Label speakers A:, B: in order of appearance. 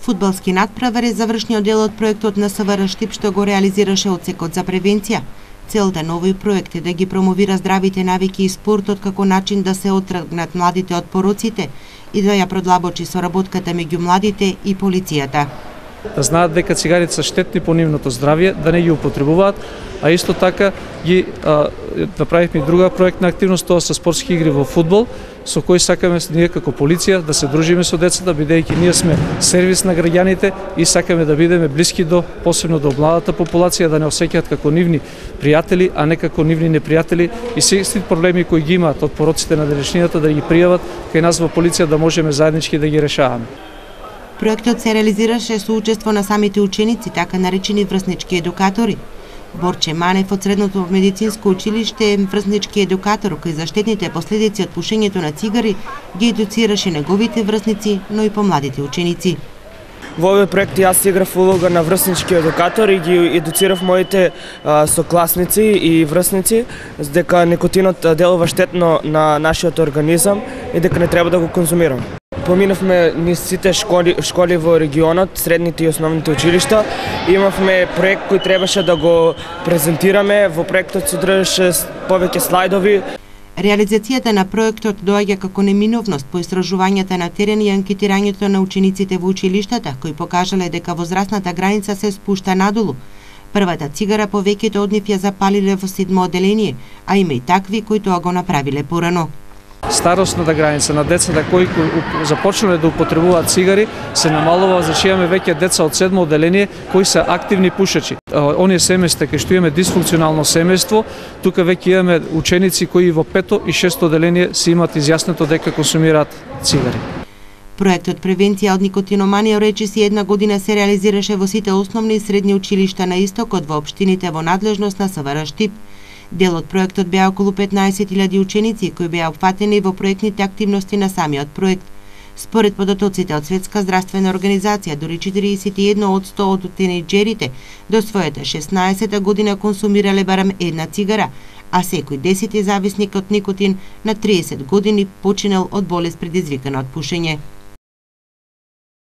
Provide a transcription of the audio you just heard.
A: Фудбалски надправар е завршниот дел од проектот на СВР Штип што го реализираше одсекот за превенција. Целта на овој проект е да ги промовира здравите навики и спортот како начин да се оттргнат младите од пороците и да ја продлабочи соработката меѓу младите и полицијата.
B: Да знаат дека цигарите се штетни по нивното здравје, да не ги употребуваат, а исто така ги направивме друга проектна активност, тоа се спортски игри во фудбал, со кои сакаме ние како полиција да се дружиме со децата, бидејќи ние сме сервис на граѓаните и сакаме да бидеме блиски посебно до младата популација, да не осеќаат како нивни пријатели, а не како нивни непријатели и сите проблеми кои ги имаат од пороците на денешнината да ги пријават кај нас во полиција, да можеме заеднички да ги решаваме.
A: Проектот се реализираше со учество на самите ученици, така наречени врснички едукатори. Борче Манев од Средното медицинско училиште е врснички едукатор кој за штетните последици од пушењето на цигари ги едуцираше неговите врсници, но и помладите ученици.
C: Во овој проект јас играв улога на врснички едукатор и ги едуцирав моите сокласници и врсници дека никотинот делува штетно на нашиот организам и дека не треба да го конзумираме. Поминавме низ сите школи во регионот, средните и основните училишта. Имавме проект кој требаше да го презентираме. Во проектот содржаше повеќе слайдови.
A: Реализацијата на проектот доаѓа како неминовност по истражувањата на терен и анкетирањето на учениците во училиштата, кои покажале дека возрастната граница се спушта надолу. Првата цигара повеќето од нив ја запалиле во 7 одделение, а има и такви кои тоа го направиле порано.
B: Старосната граница на децата кои започнале да употребуваат цигари се намалува, значи имаме веќе деца од 7 одделение кои се активни пушачи. Оние семејства кај што имаме дисфункционално семејство, тука веќе имаме ученици кои во 5 и 6 одделение си имаат изјаснето дека консумираат цигари.
A: Проектот Превенција од никотиноманија речиси една година се реализираше во сите основни и средни училишта на истокот во општините во надлежност на СВР Штип. Дел од проектот беа околу 15.000 ученици кои беа опфатени во проектните активности на самиот проект. Според податоците од Светска здравствена организација, дури 41% од тинејџерите до својата 16 година консумирале барем една цигара, а секој 10 зависник од никотин на 30 години починал од болест предизвикана од пушење.